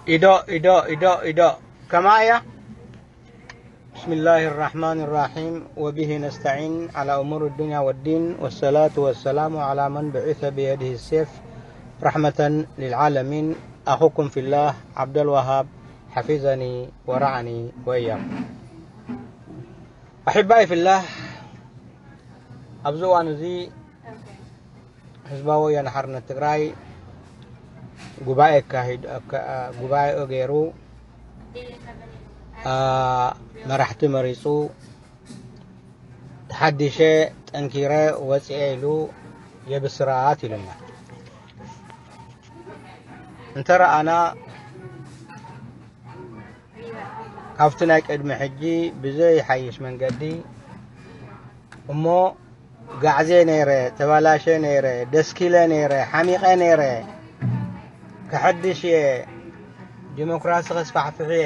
إدو إدو إدو إدو كمايا. بسم الله الرحمن الرحيم، وبه نستعين على أمور الدنيا والدين، والصلاة والسلام على من بعث بيده السيف رحمة للعالمين، أخوكم في الله عبد الوهاب، حفظني ورعني وإياكم. أحبائي في الله، ኣብዚ እዋን እዚ ህዝባዊ ወያነ ሓርነት ትግራይ ጉባኤ ኣካሂድ-፣ ኣካ-፣ ጉባኤኡ ገይሩ፣ ኣ፣ መራሕቲ መሪፁ፣ ተሓዲሸ ጠንኪረ ወፂኤ ኢሉ የብስራት ኢሉና። እንተ ረኣና፣ ካብቲ ናይ ቅድሚ ሕጂ ብዘይሓይሽ መንገዲ እሞ፣ ጋዕዜ ነይረ፣ ተባላሸ ነይረ፣ ደስኪለ ነይረ፣ ሓሚቐ ነይረ፣ ከሐድሽ እየ፣ ዲሞክራሲ ከስፋሕፍሕ እየ፣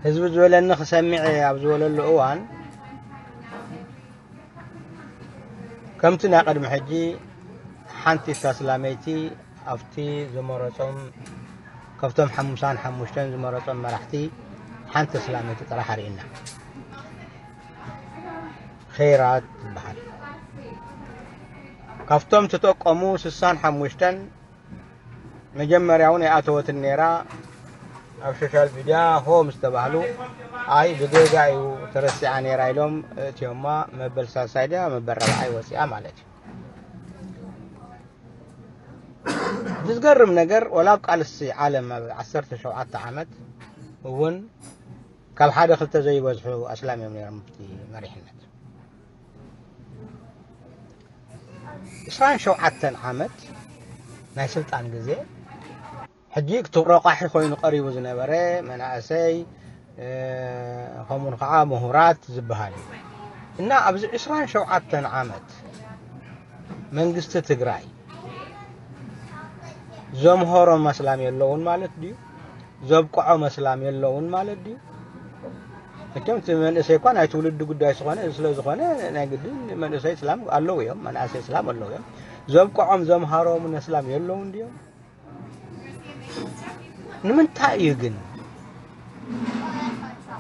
ህዝቢ ዝበለኒ ክሰምዕ እየ ኣብ ዝበለሉ እዋን፣ ከምቲ ናይ ቅድሚ ሕጂ ሓንቲ ተስላመይቲ ኣብቲ ዝመረጾም፣ ካብቶም ሓሙሳን ሓሙሽተን ዝመረጾም መራሕቲ ሓንቲ ተስላመይቲ ጥራሕ ኣርእየና። ኸይራት ትበሃል። ካብቶም ተጠቀሙ ስሳን ሓሙሽተን መጀመርያ እውን ኣይኣተወትን ነይራ። ኣብ ሶሻል ሚድያ ሆ ምስ ተባህሉ፣ ኣይ ብጌጋ እዩ ተረሲዓ ነይራ ኢሎም እትዮማ። መበል ሳልሳይ ድያ መበል ራብዓይ ወፂኣ ማለት እዩ። እቲ ዝገርም ነገር፣ ወላ ኣብ ቃልሲ ዓለም ኣብ ዓሰርተ ሸውዓተ ዓመት እውን ካብ ሓደ ክልተ ዘይበዝሑ ኣስላም እዮም ነይሮም ኣብቲ መሪሕነት። ዕስራን ሸውዓተን ዓመት ናይ ስልጣን ግዜ፣ ሕጂ ክቱብ ረቋሒ ኮይኑ ቀሪቡ ዝነበረ መናእሰይ፣ እ፣ ከምኡን ከዓ ምሁራት ዝበሃል እዩ። እና ኣብዚ ዕስራን ሸውዓተን ዓመት መንግስቲ ትግራይ ዘምሃሮም ኣስላም የለውን ማለት ድዩ? ዘብቅዖም ኣስላም የለውን ማለት ድዩ? መቸም እቲ መንእሰይ እኳ ናይ ትውልዲ ጉዳይ ዝኾነ፣ ስለ ዝኾነ ናይ ግድን መንእሰይ እስላም ኣለዉ እዮም፣ መናእሰይ እስላም ኣለዉ እዮም። ዘብቅዖም ዘምሃሮምን ኣስላም የለውን ድዮም? ንምንታይ እዩ ግን፣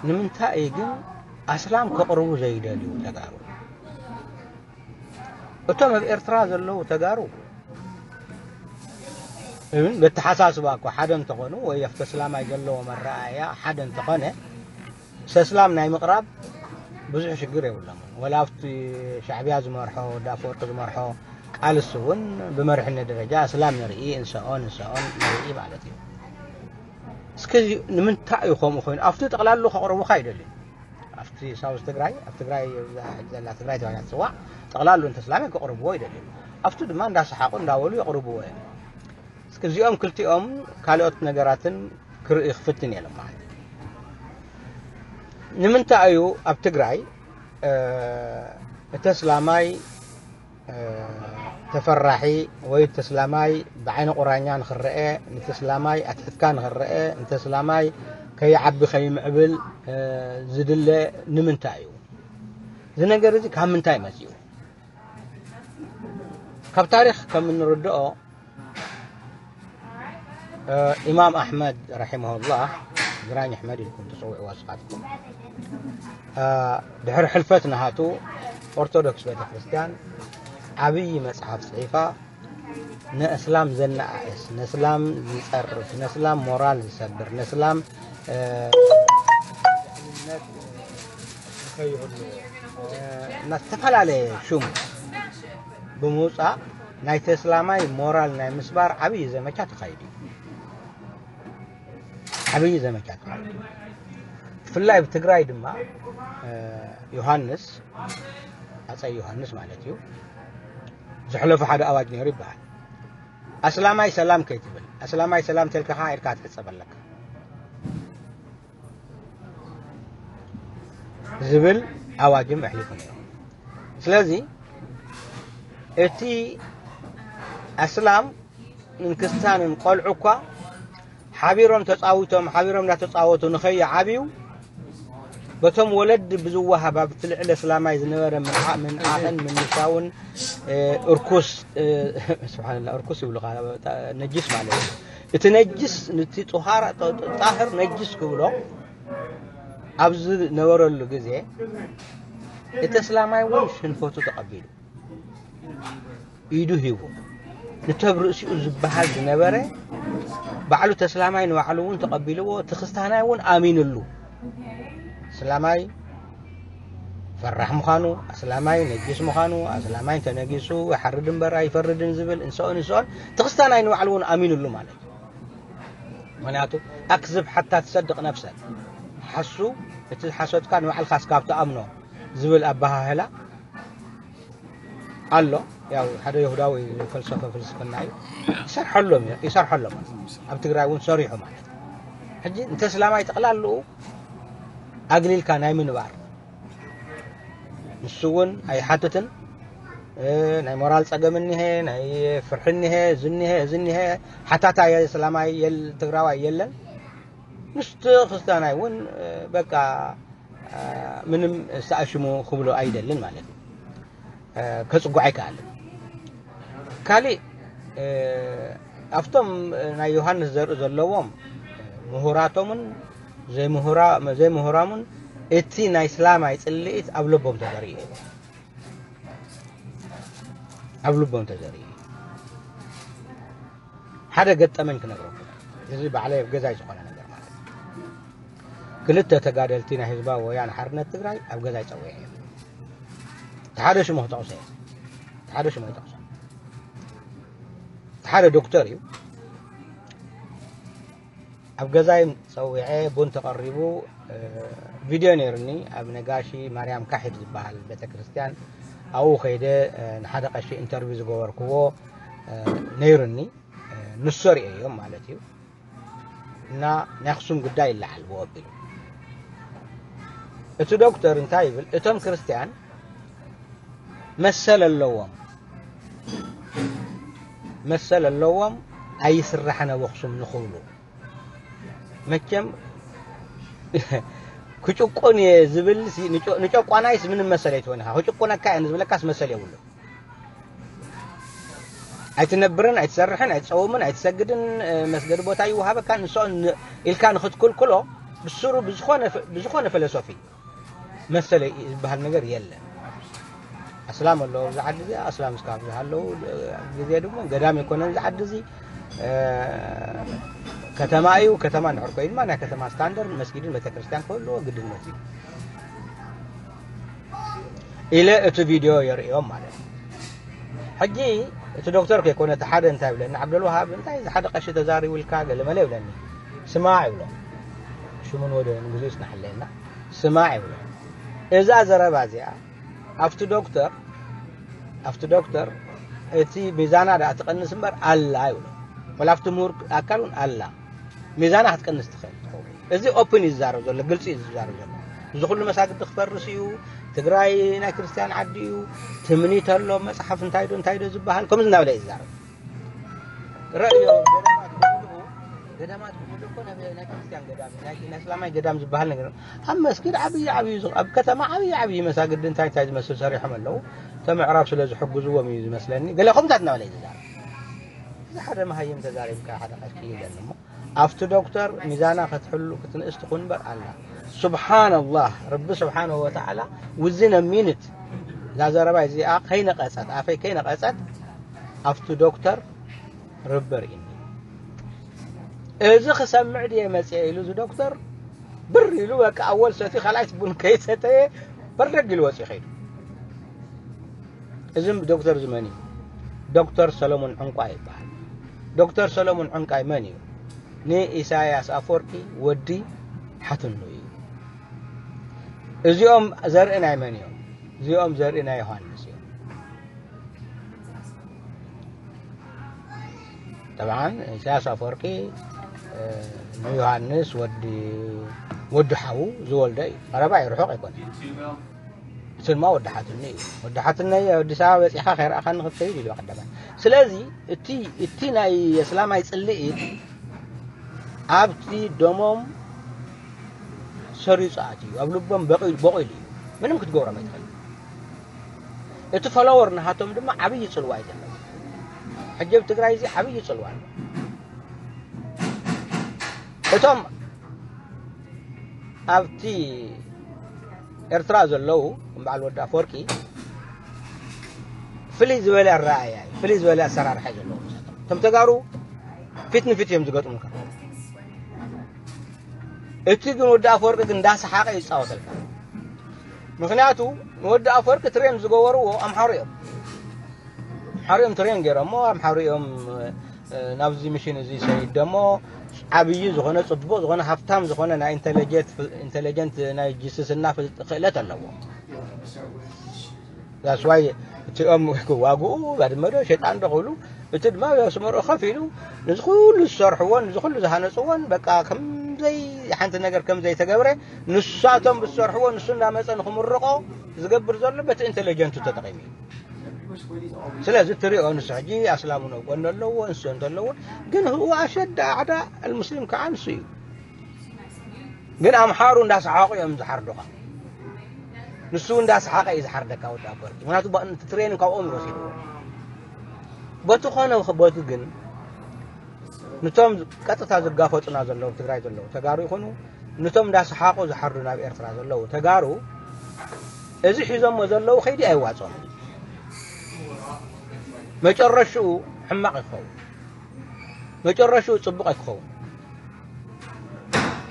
ንምንታይ እዩ ግን ኣስላም ከቕርቡ ዘይደልዩ ተጋሩ? እቶም ኣብ ኤርትራ ዘለዉ ተጋሩ እውን በተሓሳስባ እኮ ሓደ እንተኾኑ፣ ወይ ኣብቲ ኣስላማይ ዘለዎ መረኣያ ሓደ እንተኾነ፣ ሰስላም ናይ ምቕራብ ብዙሕ ሽግር የብሎምን። ወላ ኣብቲ ሻዕብያ ዝመርሖ፣ ወዲ ኣፈወርቂ ዝመርሖ ቃልሲ እውን ብመሪሕነት ደረጃ ኣስላም ንርኢ፣ እንሰኦን፣ እንሰኦን ንርኢ ማለት እዩ። እስከ እዚ ንምንታይ እዩ ከምኡ ኮይኑ? ኣብቲ ጠቕላሉ ከቕርቡኻ ይደልዩ። ኣብቲ ሳውዝ ትግራይ፣ ኣብ ትግራይ፣ እዛ ሕጂ ዘላ ትግራይ ተባሂላ ትፅዋዕ፣ ጠቕላሉ እንተ ኣስላም ከቕርብዎ ይደልዩ። ኣብቲ ድማ እንዳሰሓቑ እንዳበሉ የቕርብዎ እዮም። እስኪ እዚኦም ክልቲኦም ካልኦት ነገራትን ክርኢ ክፍትን እየ ማለት እዩ። ንምንታይ እዩ ኣብ ትግራይ፣ እ፣ እቲ ኣስላማይ፣ እ፣ ተፈራሒ ወይ እቲ ኣስላማይ ብዓይኒ ቁራኛ ንኽረአ፣ ነቲ ኣስላማይ ኣትሒትካ ንኽረአ፣ ነቲ ኣስላማይ ከይዓቢ ከይምዕብል፣ እ፣ ዝድለ ንምንታይ እዩ? እዚ ነገር እዚ ካብ ምንታይ መፂኡ? ካብ ታሪኽ ከም እንርድኦ፣ እ፣ ኢማም ኣሕመድ ረሒመሁላህ፣ ግራኝ ኣሕመድ ኢልኩም ትፅውዕዎ ንስኻትኩም፣ እ፣ ድሕሪ ሕልፈት ናሃቱ ኦርቶዶክስ ቤተ ክርስቲያን ዓብዪ መፅሓፍ ፅሒፋ፣ ንእስላም ዘነኣእስ፣ ንእስላም ዝፀርፍ፣ ንእስላም ሞራል ዝሰብር፣ ንእስላም፣ እ፣ ድሕንነት ንኸይህሉ፣ እ፣ እና ዝተፈላለየ ሹም ብምውፃእ ናይቲ እስላማይ ሞራል ናይ ምስባር ዓብዪ ዘመቻ ተኻይዱ እዩ። ዓብዪ ዘመቻ ተኻይዱ እዩ። ብፍላይ ኣብ ትግራይ ድማ፣ እ፣ ዮሃንስ፣ ሃፀይ ዮሃንስ ማለት እዩ፣ ዘሕለፎ ሓደ ኣዋጅ ነይሩ ይበሃል። ኣስላማይ ሰላም ከይትብል፣ ኣስላማይ ሰላም ተልካ ከዓ ኢድካ ትሕፀብ ኣለካ ዝብል ኣዋጅም ኣሕሊፉ ነይሩ። ስለዚ እቲ ኣስላምን ክርስትያንን ቆልዑ እኳ ሓቢሮም ተፃዊቶም፣ ሓቢሮም እንዳተፃወቱ ንኸይዓብዩ፣ በቶም ወለዲ ብዝወሃብ ኣብቲ ልዕሊ ኣስላማይ ዝነበረ ምንዓ-፣ ምንዓቕን ምንሻውን፣ እ፣ እርኩስ፣ እ፣ ስብሓንላ፣ እርኩስ ይብሉ፣ ነጅስ ማለት እዩ። እቲ ነጅስ፣ ነቲ ጡሃራ፣ ጣህር ነጅስ ክብሎ ኣብ ዝነበረሉ ግዜ፣ እቲ እስላማይ እውን ሽንፈቱ ተቐቢሉ፣ ኢዱ ሂቡ። ንተብ ርእሲኡ ዝበሃል ዝነበረ፣ ባዕሉ ተስላማይ ንባዕሉ እውን ተቐቢልዎ፣ እቲ ክስታናይ እውን ኣሚንሉ። እስላማይ ፈራሕ ምዃኑ፣ ኣስላማይ ነጅስ ምዃኑ፣ ኣስላማይ እንተነጊሱ ይሓርድ እምበር ኣይፈርድን ዝብል እንስኦን እንስኦን፣ እቲ ክስታናይ ንባዕሉ እውን ኣሚንሉ ማለት እዩ። ምኽንያቱ፣ ኣክዝብ ሓታ ትሰድቕ ነፍሰክ። ሓሱ፣ እቲ ሓሶትካ ንባዕልካ እስካብ ትኣምኖ ዝብል ኣበሃህላ ኣሎ። ያው ሓደ ይሁዳዊ ፈልሰፈ ፍልስፍና እዩ። ይሰርሐሎም እዩ፣ ይሰርሐሎም። ኣብ ትግራይ እውን ሰሪሑ ማለት እዩ። ሕጂ እንተ እስላማይ ጠቕላልኡ ኣግሊልካ ናይ ምንባር፣ ንሱ እውን ኣይሓትትን። እ፣ ናይ ሞራል ጸገም እኒሀ፣ ናይ ፍርሒ እኒሀ፣ እዚ እኒሀ፣ እዚ እኒሀ። ሓታታይ እስላማይ የል-፣ ትግራዋይ የለን። ምስቲ ክርስቲያናይ እውን፣ እ፣ በቃ፣ እ፣ ምንም ዝተኣሽሙ ክብሎ ኣይደልን ማለት እዩ። እ፣ ከጽጉዕ ኣይከኣልን። ካሊእ፣ እ፣ ኣብቶም ናይ ዮሃንስ ዘርኢ ዘለዎም ምሁራቶምን ዘይምሁራ-፣ ዘይምሁራሙን እቲ ናይ እስላማይ ጽልኢት ኣብ ልቦም ተዘሪኡ እዩ። ኣብ ልቦም ተዘሪኡ እዩ። ሓደ ገጠመኝ ክነግረኩም። እዚ ባዕለይ ኣብ ገዛይ ዝኾነ ነገር ማለት እዩ። ክልተ ተጋደልቲ ናይ ህዝባዊ ወያነ ሓርነት ትግራይ ኣብ ገዛይ ጸዊዐ እዮም። እቲ ሓደ ሽሙ ክጠቕሶ እየ። እቲ ሓደ ሽሙ ኣይጠቕሶ። እቲ ሓደ ዶክተር እዩ። ኣብ ገዛይ ጸዊዐ፣ ቡን ተቐሪቡ፣ እ፣ ቪድዮ ነይሩኒ። ኣብ ነጋሺ ማርያም ካሒድ ዝበሃል ቤተክርስትያን ኣብኡ ከይደ፣ እ፣ ንሓደ ቀሺ ኢንተርቪው ዝገበርክዎ፣ እ፣ ነይሩኒ። እ፣ ንሶ ርእየዮም ማለት እዩ። እና ናይ ኣኽሱም ጉዳይ ይለዓል ብወቢሉ። እቲ ዶክተር እንታይ ይብል? እቶም ክርስቲያን መሰል ኣለዎም፣ መሰል ኣለዎም ኣይስራሕን ኣብ ኣኽሱም ንኽብሉ። መቸም ክጭቁን እየ ዝብል ሲ፣ ንጨ-፣ ንጨቋናይስ ምንም መሰል ኣይትሆን ኢኻ። ክጭቁነካ እየ ንዝብለካስ መሰል የብሉን። ኣይትነብርን፣ ኣይትሰርሕን፣ ኣይትጸውምን፣ ኣይትሰግድን፣ እ፣ መስገዲ ቦታ ይወሃበካ፣ ንስኦ ን-፣ ኢልካ ንኽትክልክሎ ብስሩ ብዝኾነ ፈ-፣ ብዝኾነ ፈለሶፊ መሰለይ ዝበሃል ነገር የለን። ኣስላም ኣለዉ ኣብዚ ዓዲ እዚኣ፣ ኣስላም እስካብ ዝሃለዉ፣ እ፣ ግዜ ድማ ገዳም ኣይኮነን እዚ ዓዲ እዚ፣ እ፣ ከተማ እዩ። ከተማ እንድሕር ኮይኑ ድማ ናይ ከተማ ስታንዳርድ መስጊድን ቤተክርስትያን ክህልዎ ግድነት እዩ። ኢለ እቲ ቪድዮ የርእዮም ማለት እዩ። ሕጂ እቲ ዶክተር ከይኮነ እቲ ሓደ እንታይ ይብለኒ፣ ዓብደልውሃብ፣ እንታይ እዚ ሓደ ቀሺ ተዛሪቡ ኢልካ ገለመለ ይብለኒ። ስማዕ ይብሎ። ሽሙን ወደን ግዜ ይጽናሕለና። ስማዕ ይብሎ። እዛ ዘረባ እዚኣ ኣብቲ ዶክተር፣ ኣብቲ ዶክተር እቲ ሚዛና ደኣ ትቐንስ እምበር ኣላ ይብሎ። ወላ ኣብቲ ምሁር ኣካል እውን ኣላ። ሚዛና ክትቀንስ ትኽእል ትኸውን። እዚ ኦፕን እዩ ዝዛረብ ዘሎ፣ ግልጺ እዩ ዝዛረብ ዘሎ። እዚ ኩሉ መሳግዲ ክፈርስ እዩ፣ ትግራይ ናይ ክርስትያን ዓዲ እዩ፣ ትምኒት ኣሎ፣ መጽሓፍ እንታይ ዶ እንታይ ዶ ዝበሃል፣ ከምዚ እናበለ እዩ ዝዛረብ። ረእዮ፣ ገዳማት ብምልኡ፣ ገዳማት ብምልኡ እኮ ናይ፣ ናይ ክርስትያን ገዳም፣ ናይ፣ ናይ እስላማይ ገዳም ዝበሃል ነገር፣ ኣብ መስጊድ ዓብዪ ዓብዪ፣ ኣብ ከተማ ዓብዪ ዓብዪ መሳግዲ እንታይ እንታይ ዝመስል ሰሪሖም ኣለዉ። እቶም ኣዕራብ ስለ ዝሕግዝዎም እዩ ዝመስለኒ። ገለ ከምታት እናበለ እዩ ዝዛረብ። እዚ ሓደ መሃይም ተዛሪብካ ሓደ ቀሺ ይብለኒ እሞ፣ ኣብቲ ዶክተር ሚዛና ክትሕሉ ክትንእስ ትኹን እምበር ኣላ። ሱብሓነላህ፣ ረቢ ስብሓነሁ ወተዓላ ውዝን ሚኒት እዛ ዘረባ እዚኣ ከይነቐጸት፣ ኣፈይ ከይነቐጸት፣ ኣብቲ ዶክተር ርቢ ርኢኒ። እዚ ክሰምዕ ድየ መጽየ ኢሉ እዚ ዶክተር ብር ኢሉ፣ በቃ ኣወል ሰትዩ፣ ካልኣይት ቡን ከይሰተየ በርደግ ኢሉ ወጽዩ ከይዱ። እዚ ዶክተር እዚ መን እዩ? ዶክተር ሰለሙን ዕንቋይ ይበሃል። ዶክተር ሰለሙን ዕንቋይ መን እዩ? ንኢሳያስ ኣፈወርቂ ወዲ ሓትኑ እዩ። እዚኦም ዘርኢ ናይ መን እዮም? እዚኦም ዘርኢ ናይ ዮሃንስ እዮም። ጠብዓን ኢሳያስ ኣፈወርቂ፣ እ፣ ንዮሃንስ ወዲ፣ ወዲ ሓዉ ዝወልደ እዩ። ቀረባ እዩ፣ ርሑቕ ኣይኮነን። እቲ ድማ ወዲ ሓትኒ እዩ። ወዲ ሓትነይ ኣብ ኣዲስ ኣበባ በጺኻ ከይረኣኻኒ ክትከይድ ኢሉ ቀዳማይ። ስለዚ እቲ፣ እቲ ናይ እስላማይ ጽልኢት ኣብቲ ደሞም ሰሪጹ ኣትዩ፣ ኣብ ልቦም በቒሉ፣ በቒሉ እዩ። ምንም ክትገብሮም ኣይትኽእል። እቲ ፎሎወር ናሃቶም ድማ ዓብዪ ጽልዋ እዩ ዘለዎ። ሕጂ ኣብ ትግራይ እዚ ዓብዪ ጽልዋ ኣሎ። እቶም ኣብቲ ኤርትራ ዘለዉ፣ ከም በዓል ወዲ ኣፈወርቂ፣ ፍልይ ዝበለ ኣረኣእያ እዩ፣ ፍልይ ዝበለ ኣሰራርሓ እዩ ዘለዎም። እቶም ተጋሩ ፊት ንፊት እዮም ዝገጥሙካ። እቲ ግን ወዲ ኣፈወርቂ ግን እንዳሰሓቐ ይጻወተልካ። ምኽንያቱ ንወዲ ኣፈወርቂ ትሬን ዝገበርዎ ኣምሓሩ እዮም። ኣምሓሩ እዮም ትሬን ገይሮሞ፣ ኣምሓሩ እዮም፣ እ፣ ናብዚ ሚሽን እዚ ሰይድ ደሞ ዓብዪ ዝኾነ፣ ጽቡቕ ዝኾነ፣ ሃብታም ዝኾነ ናይ ኢንተለጀንት፣ ኢንተለጀንት ናይ ጅስስና ፍል-፣ ክእለት ኣለዎ። That's why እቲኦም ክዋግኡ ባድመ ዶ ሸጣን ዶ ክብሉ፣ እቲ ድማ ኣብ ኣስመርኦ ከፍ ኢሉ ነዚ ኩሉ ዝሰርሕዎን ነዚ ኩሉ ዝሃነፅዎን በቃ ከምዘይ ሓንቲ ነገር ከም ዘይተገብረ፣ ንሳቶም ብዝሰርሕዎ ንሱ እንዳመፀ ንክምርቆ ዝገብር ዘሎ በቲ ኢንተለጀንቱ ተጠቒሙ እዩ። ስለዚ እትሪኦ ንሱ ሕጂ ኣስላሙ ነው ጎን ኣለዎ፣ እንሱ እንተለዎ፣ ግን هو أشد أعداء المسلم ከዓ ንሱ እዩ። ግን ኣምሓሩ እንዳሰሓቑ እዮም ዝሓርዱኻ። ንሱ እንዳሰሓቐ እዩ ዝሓርደካ ወዲ ኣፈወርቂ። ምክንያቱ ባ-፣ እቲ ትሬኒንግ ካብኦም እዩ ወሲድዎ። በቲ ኾነ በቲ ግን ንቶም ቀጥታ ዝጋፈጡና ዘለዉ ትግራይ ዘለዉ ተጋሩ ይኹኑ፣ ንቶም እንዳሰሓቑ ዝሓርዱ ናብ ኤርትራ ዘለዉ ተጋሩ፣ እዚ ሒዞሞ ዘለዉ ከይዲ ኣይዋጾም። መጨረሽኡ ሕማቕ ይኸውን። መጨረሽኡ ጽቡቕ ኣይክኸውን።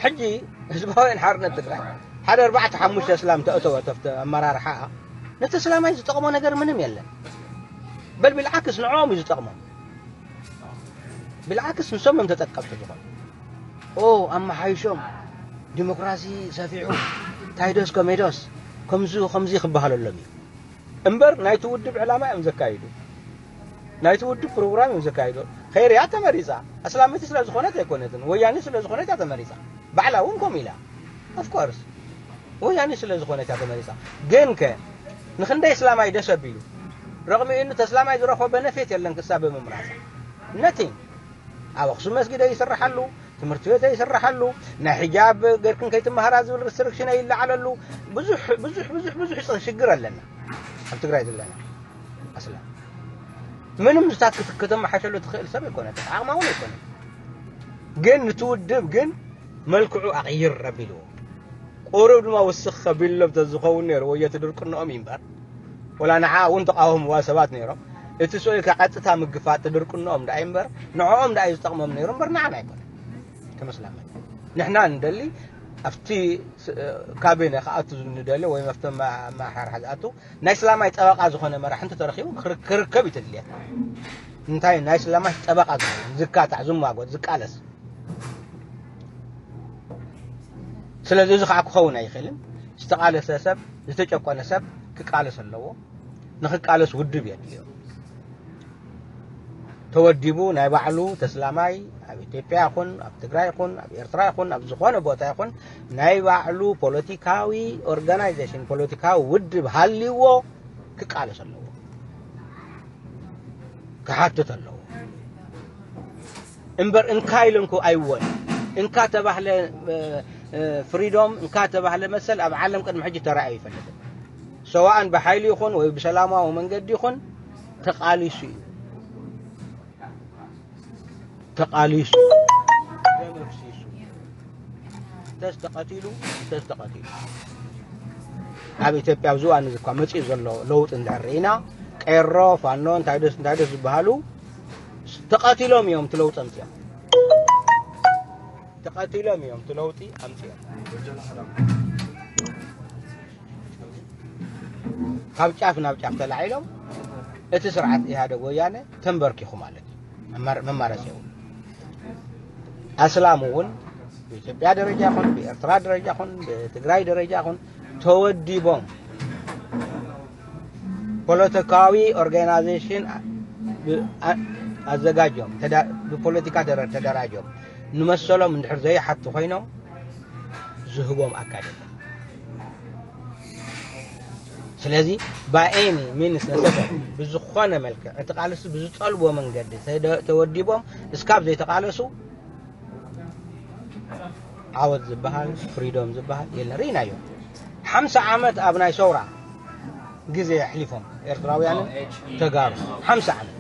ሕጂ ህዝባውያን ሓርነት ትግራይ ሓደ ኣርባዕተ ሓሙሽተ እስላም ተእተወ፣ ተፍተ ኣመራርሓ፣ ነቲ እስላማይ ዝጠቕሞ ነገር ምንም የለን። በል ብልዓክስ ንዕኦም እዩ ዝጠቕሞም። ብልዓክስ ንሶም እዮም ተጠቀምቲ ዝኾኑ። ኦ፣ ኣመሓይሾም፣ ዲሞክራሲ ሰፊሑ፣ ታይዶስ ከሜዶስ፣ ከምዚ ከምዚ ክበሃለሎም እዩ። እምበር ናይቲ ውድብ ዕላማ እዮም ዘካይዱ። ናይቲ ውድብ ፕሮግራም እዮም ዘካይዱ። ኸይርያ ተመሪጻ። ኣስላመይቲ ስለ ዝኾነት ኣይኮነትን። ወያኔ ስለ ዝኾነት እያ ተመሪጻ። ባዕላ እውን ከምኡ ኢላ። Of course። ወያኔ ስለ ዝኾነት እያ ተመሪጻ። ግን ከ ንኽንደይ እስላማይ ደስ ኣቢሉ? ረቕሚኡኒ ተስላማይ ዝረኽቦ በነፌት የለን ክሳብ ብምምራጻ። Nothing። ኣብ ኣኽሱም መስጊድ ኣይስረሓሉ፣ ትምህርቲ ቤት ኣይስረሓሉ፣ ናይ ሒጃብ ገርክን ከይትመሃራ ዝብል ሪስትሪክሽን ኣይለዓለሉ። ብዙሕ፣ ብዙሕ፣ ብዙሕ፣ ብዙሕ ጸ-፣ ሽግር ኣለና ኣብ ትግራይ ዘለና ኣስላም። ምንም ዝታት ክት-፣ ከተመሓሸሉ ትኽእል ሰብ ኣይኮነትን፣ ዓቕማ እውን ኣይኮነን። ግን ንቲ ውድብ ግን መልክዑ ኣቕይር ኣቢልዎ። ቁሩብ ድማ ውስኽ ከቢሎም ተዝኸውን ነይሩ፣ ወዮ እቲ ድርቅንኦም እዩ እምበር። ወላ ንዓ እውን ተቃወምዋ ሰባት ነይሮም። እቲ ስኡል ካብ ቀጥታ ምግፋጥ ድርቅንኦም ደኣ እዩ እምበር፣ ንዕኦም ደኣ እዩ ዝጠቕሞም ነይሩ እምበር ንዓና ኣይኮነን። ከም እስላማይ ንሕና ንደሊ ኣብቲ ስ-፣ ካቢነ ክኣቱ ንደሊ ወይ ኣብቲ ኣመ-፣ ኣመሓርሓ ዝኣቱ ናይ እስላማይ ጠበቃ ዝኾነ መራሒ እንተተረኺቡ ክር-፣ ክርከብ እዩ ተድልየትና። እንታይ ናይ እስላማይ ጠበቃ ዝኾነ ዝካታዕ፣ ዝማጎት፣ ዝቃለስ። ስለዚ እዚ ከዓ ክኸውን ኣይኽእልን። ዝተቓለሰ ሰብ፣ ዝተጨቆነ ሰብ ክቃለስ ኣለዎ። ንኽቃለስ ውድብ የድልዮ። ተወዲቡ ናይ ባዕሉ ተስላማይ ኣብ ኢትዮጵያ ይኹን፣ ኣብ ትግራይ ይኹን፣ ኣብ ኤርትራ ይኹን፣ ኣብ ዝኾነ ቦታ ይኹን፣ ናይ ባዕሉ ፖለቲካዊ ኦርጋናይዜሽን፣ ፖለቲካዊ ውድብ ሃልይዎ ክቃለስ ኣለዎ። ክሓትት ኣለዎ። እምበር እንካ ኢለንኩ ኣይወን። እንካ ተባህለ፣ እ፣ እ፣ ፍሪዶም፣ እንካ ተባህለ መሰል ኣብ ዓለም ቅድሚ ሕጂ ተራእዩ ይፈልጥን። ሰዋእን ብሓይሊ ይኹን ወይ ብሰላማዊ መንገዲ ይኹን ተቃሊሱ እዩ። ተቃሊሱ፣ ደም ኣፍሲሱ፣ እንተስ ተቐቲሉ፣ እንተስ ተቐቲሉ። ኣብ ኢትዮጵያ ኣብዚ እዋን እዚ እኳ መጺኡ ዘሎ ለውጢ እንድሕር ርኢና፣ ቄሮ፣ ፋኖ፣ እንታይ ደስ፣ እንታይ ደስ ዝበሃሉ ተቐቲሎም እዮም እቲ ለውጢ ኣምጺኦም። ተቐቲሎም እዮም እቲ ለውጢ ኣምጺኦም። ካብ ጫፍ ናብ ጫፍ ተላዒሎም እቲ ስርዓት ኢህኣደግ ወያነ ተንበርኪኹ ማለት እዩ። መማር-፣ መማረፂ የብሉ። ኣስላም እውን ብኢትዮጵያ ደረጃ ይኹን፣ ብኤርትራ ደረጃ ይኹን፣ ብትግራይ ደረጃ ይኹን ተወዲቦም ፖለቲካዊ ኦርጋናይዜሽን ብ-፣ ኣ-፣ ኣዘጋጆም፣ ተዳ-፣ ብፖለቲካ ደረ-፣ ተደራጆም ንመሰሎም እንድሕር ዘይሓቱ ኮይኖም ዝህቦም ኣካል የለን። ስለዚ by any means necessary ብዝኾነ መልክዕ እቲ ቃልሲ ብዝጠልቦ መንገዲ ተደ-፣ ተወዲቦም እስካብ ዘይተቃለሱ ዓወት ዝበሃል ፍሪዶም ዝበሃል የለን። ርኢናዮ። ሓምሳ ዓመት ኣብ ናይ ሰውራ ግዜ ኣሕሊፎም ኤርትራውያንን ተጋሩ። ሓምሳ ዓመት።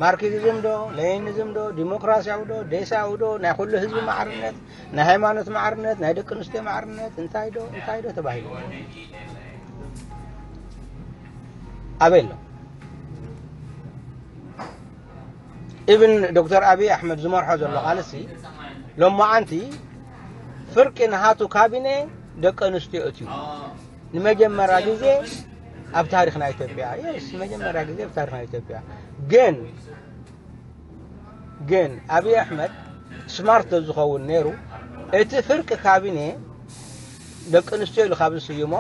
ማርክሲዝም ዶ፣ ሌኒኒዝም ዶ፣ ዲሞክራሲያዊ ዶ፣ ዴሳዊ ዶ፣ ናይ ኩሉ ህዝቢ ማዕርነት፣ ናይ ሃይማኖት ማዕርነት፣ ናይ ደቂ ኣንስትዮ ማዕርነት እንታይ ዶ እንታይ ዶ ተባሂሉ ኣበይ ኣሎ? ኢብን ዶክተር ኣብይ ኣሕመድ ዝመርሖ ዘሎ ቃልሲ ሎማዓንቲ ፍርቂ ናሃቱ ካቢኔ ደቂ ኣንስትዮ እትዩ። ንመጀመርያ ግዜ ኣብ ታሪኽ ናይ ኢትዮጵያ፣ የስ፣ ንመጀመርያ ግዜ ኣብ ታሪኽ ናይ ኢትዮጵያ። ግን፣ ግን ኣብይ ኣሕመድ ስማርት ዝኸውን ነይሩ፣ እቲ ፍርቂ ካቢኔ ደቂ ኣንስትዮ ኢሉ ካብ ዝስይሞ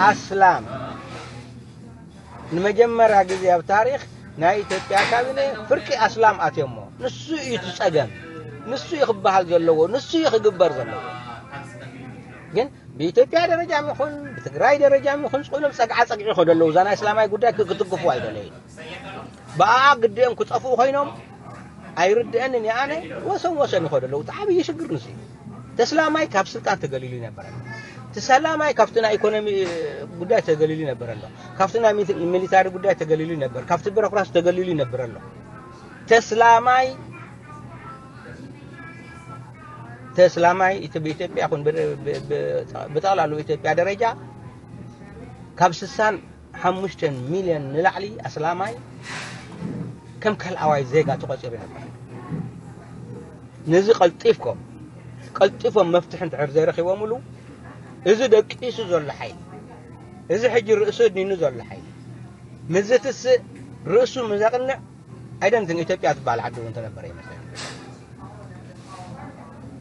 ኣስላም ንመጀመርያ ግዜ ኣብ ታሪኽ ናይ ኢትዮጵያ ካቢኔ ፍርቂ ኣስላም ኣትዮሞ። ንሱ እዩ እቲ ጸገም፣ ንሱ እዩ ክበሃል ዘለዎ፣ ንሱ እዩ ክግበር ዘለዎ። ግን ብኢትዮጵያ ደረጃ ይኹን ብትግራይ ደረጃ ይኹን ጽሎም ጸግዓ ጸግዒ ይኸዱ ኣለዉ። እዛ ናይ እስላማይ ጉዳይ ክ-፣ ክትግፉ ኣይደለዩ። ብኣኣ ግዲኦም ክጠፍኡ ኮይኖም ኣይርድአንን እየ ኣነ። ወሰን ወሰን ይኸዱ ኣለዉ። እቲ ዓብዪ ሽግር ንሱ እዩ። ተስላማይ ካብ ስልጣን ተገሊሉ ይነበር ኣሎ። ተሰላማይ ካብቲ ናይ ኢኮኖሚ ጉዳይ ተገሊሉ ይነበር ኣሎ። ካብቲ ናይ ሚት-፣ ሚሊታሪ ጉዳይ ተገሊሉ ይነበር፣ ካብቲ ቢሮክራሲ ተገሊሉ ይነበር ኣሎ። ተስላማይ፣ ተስላማይ እቲ ብኢትዮጵያ ይኹን ብ-፣ ብ-፣ ብ-፣ ብጠቕላላ ኢትዮጵያ ደረጃ ካብ ስሳን ሓሙሽተን ሚልዮን ንላዕሊ ኣስላማይ ከም ካልኣዋይ ዜጋ ተቖጺሩ ነበር። ነዚ ቀልጢፍኩም፣ ቀልጢፎም መፍትሒ እንድሕር ዘይረኺቦምሉ፣ እዚ ደቂሱ ዘሎ ሓይሊ፣ እዚ ሕጂ ርእሱ ኣድኒኑ ዘሎ ሓይሊ፣ ምዝትስእ ርእሱ ምዘቕንዕ፣ ኣይደንትን ኢትዮጵያ ትበሃል ዓዲ እውን ተነበረ ይመስለኒ።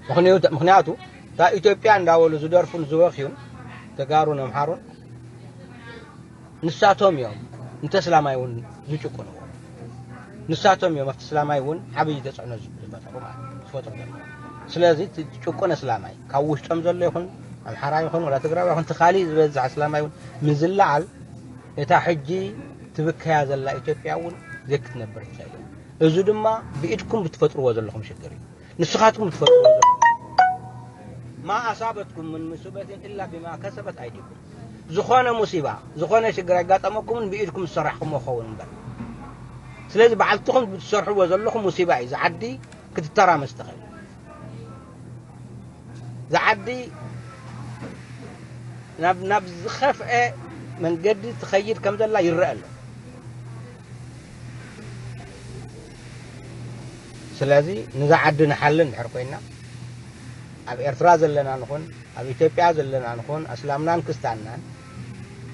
ምኽንያቱ፣ ምኽንያቱ፣ እታ ኢትዮጵያ እንዳበሉ ዝደርፉን ዝበኽዩን ተጋሩን ኣምሓሩን፣ ንሳቶም እዮም ንተስላማይ እውን ዝጭቁንዎ። ንሳቶም እዮም ኣብቲ እስላማይ እውን ዓብዪ ተፅዕኖ ዝፈጥሩ ማለት እዩ፣ ዝፈጥሩ ዘለዉ። ስለዚ እቲ ጭቁን እስላማይ፣ ካብ ውሽጦም ዘሎ ይኹን፣ ኣምሓራ ይኹን፣ ወላ ትግራዊ ይኹን፣ እቲ ካሊእ ዝበዝሕ እስላማይ እውን ምዝለዓል፣ እታ ሕጂ ትብከያ ዘላ ኢትዮጵያ እውን ዘይክትነብር ትኽእል እያ። እዚ ድማ ብኢድኩም ብትፈጥርዎ ዘለኹም ሽግር እዩ። ንስኻትኩም ብትፈጥርዎ ዘለኹም። ማ ኣሳበትኩም ምን ሙሲበትን ኢላ ቢማ ከሰበት ኣይዲኩም። ዝኾነ ሙሲባ፣ ዝኾነ ሽግር ኣጋጠመኩምን ብኢድኩም ዝሰራሕኩሞ ክኸውን እምበር። ስለዚ ባዕልትኹም ብትሰርሕዎ ዘለኹም ሙሲባ እዩ። እዚ ዓዲ ክትተራመስ ትኽእል። እዛ ዓዲ ናብ፣ ናብ ዝኸፍአ መንገዲ ትኸይድ ከም ዘላ ይረአ ኣሎ። ስለዚ ነዛ ዓዲ ንሓሊ እንድሕር ኮይና፣ ኣብ ኤርትራ ዘለና ንኹን፣ ኣብ ኢትዮጵያ ዘለና ንኹን፣ ኣስላምናን ክስታናን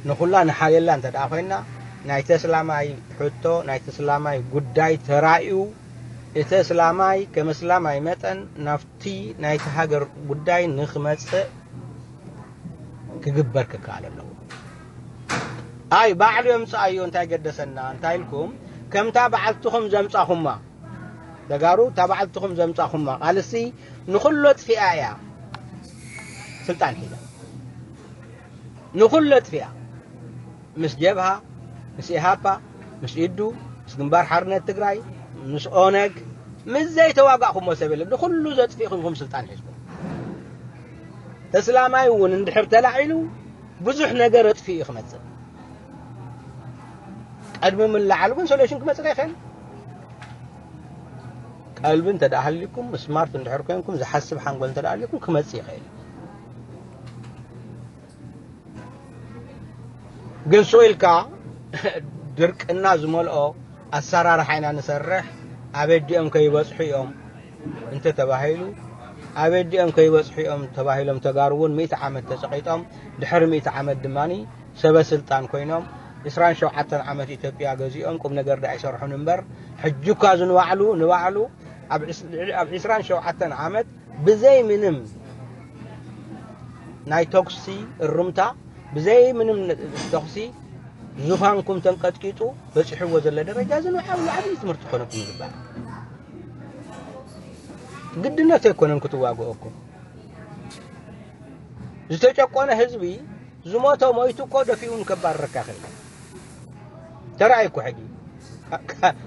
ንኹላ ንሓልየላ እንተ ደኣ ኮይና፣ ናይ ተስላማይ ሕቶ፣ ናይ ተስላማይ ጉዳይ ተራእዩ፣ እቲ እስላማይ ከም እስላማይ መጠን ናብቲ ናይቲ ሃገር ጉዳይ ንኽመጽእ ክግበር ክከኣል ኣለዎ። ኣይ ባዕሉ የምጽኣዮ እንታይ ገደሰና እንታይ ኢልኩም ከምታ በዓልትኹም ዘምጻኹማ ተጋሩ እታ በዓልትኹም ዘምጻኹማ ቃልሲ ንኹሉ ኣጥፊኣ እያ ስልጣን ሒዛ ንኹሉ ኣጥፊኣ ምስ ጀብሃ ምስ ኢሃፓ ምስ ኢዱ ምስ ግንባር ሓርነት ትግራይ ምስ ኦነግ ምስ ዘይተዋጋእኹሞ ሰብ የለን ንኹሉ ዘጥፊእኹም ኢኹም ስልጣን ሒዝኩም ተስላማይ እውን እንድሕር ተላዒሉ ብዙሕ ነገር ኣጥፊኡ እዩ ክመፅእ ቀድሚ ምልዓሉ ግን ሶሉሽን ክመፅእ ኣይኽእል ቀልቢ እንተ ደኣ ሃልዩኩም ስማርት እንድሕር ኮንኩም ዝሓስብ ሓንጎል እንተ ደኣ ሃልዩኩም ክመፅእ ይኽእል ግን ስቕ ኢልካ ድርቅና ዝመልኦ ኣሰራርሓ ኢና ንሰርሕ ኣበዲኦም ከይበፅሑ እዮም እንተ ተባሂሉ ኣበዲኦም ከይበፅሑ እዮም ተባሂሎም ተጋሩ እውን ሚእቲ ዓመት ተፀቒጦም ድሕሪ ሚእቲ ዓመት ድማ ሰበ ስልጣን ኮይኖም ዕስራን ሸውዓተን ዓመት ኢትዮጵያ ገዚኦም ቁም ነገር ደኣ ይሰርሑን እምበር ሕጂ እኳ እዚ ንባዕሉ ንባዕሉ ኣብ ዕስ- ልዕሊ- ኣብ ዕስራን ሸውዓተን ዓመት ብዘይ ምንም ናይ ተኩሲ እርምታ ብዘይ ምንም ተኩሲ ዙፋንኩም ተንቀጥቂጡ በፂሕዎ ዘሎ ደረጃ እዚ ንባዕሉ ዓብዪ ትምህርቲ ክኾነኩም ይግባእ ግድነት ኣይኮነን ክትዋግኦኩም ዝተጨቆነ ህዝቢ ዝሞተ ሞይቱ እኮ ደፊኡ ንከባርረካ ይኽእል ተራእይ እኮ ሕጂ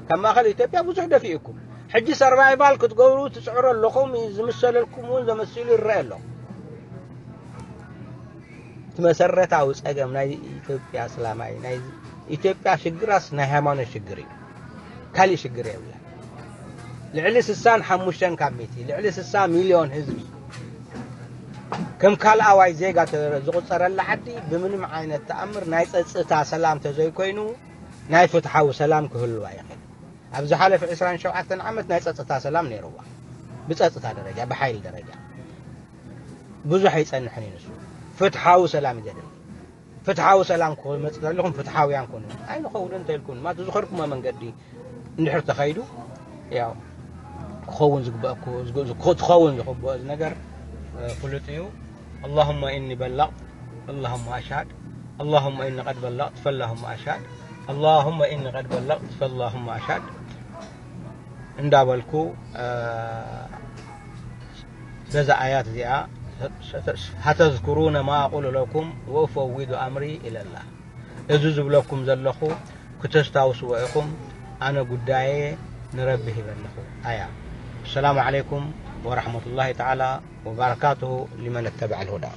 ካብ ማእኸል ኢትዮጵያ ብዙሕ ደፊኡ እኮ ሕጂ ሰርቫይቫል ክትገብሩ ትፅዕሩ ኣለኹም ዝምሰለልኩም እውን ዘመሲሉ ይረአ ኣሎ እቲ መሰረታዊ ፀገም ናይ ኢትዮጵያ እስላማይ ናይ ኢትዮጵያ ሽግራስ ናይ ሃይማኖት ሽግር እዩ ካሊእ ሽግር የብላ ልዕሊ ስሳን ሓሙሽተን ካብ ሚእቲ፣ ልዕሊ ስሳ ሚልዮን ህዝቢ ከም ካልኣዋይ ዜጋ ተ-፣ ዝቑጸረላ ዓዲ ብምንም ዓይነት ተኣምር ናይ ጸጥታ ሰላም ተዘይኮይኑ ናይ ፍትሓዊ ሰላም ክህልዋ ይኽእል። ኣብ ዝሓለፈ ዕስራን ሸውዓተን ዓመት ናይ ጸጥታ ሰላም ነይርዋ። ብጸጥታ ደረጃ፣ ብሓይሊ ደረጃ ብዙሕ ኣይጸንሕን እዩ ንሱ። ፍትሓዊ ሰላም እዩ ዘድሊ። ፍትሓዊ ሰላም ክመጽእ ዘለኹም ፍትሓውያን ኩኑ። ኣይንኸውድን እንተኢልኩም፣ ማት ዝኸድኩሞ መንገዲ እንድሕር ተኸይዱ፣ ያው ክኸውን ዝግበእኩ-፣ ዝግ-፣ ዝግ-፣ ክኸውን ዝግበኦ ነገር፣ እ፣ ፍሉጥ እዩ። اللهم إني بلغت، اللهم أشهد، اللهم إني قد بلغت، فاللهم أشهد، اللهم إني قد بلغت، فاللهم أشهد እንዳበልኩ፣ እ፣ በዛ ኣያት እዚኣ፣ ستذكرون ما أقول لكم وأفوض أمري إلى الله። እዚ ዝብለኩም ዘለኹ ክተስታውስዎ ኢኹም፣ ኣነ ጉዳየ ንረቢ ሂበ ኣለኹ። ኣያ። السلام عليكم ورحمة الله تعالى وبركاته لمن اتبع الهدى።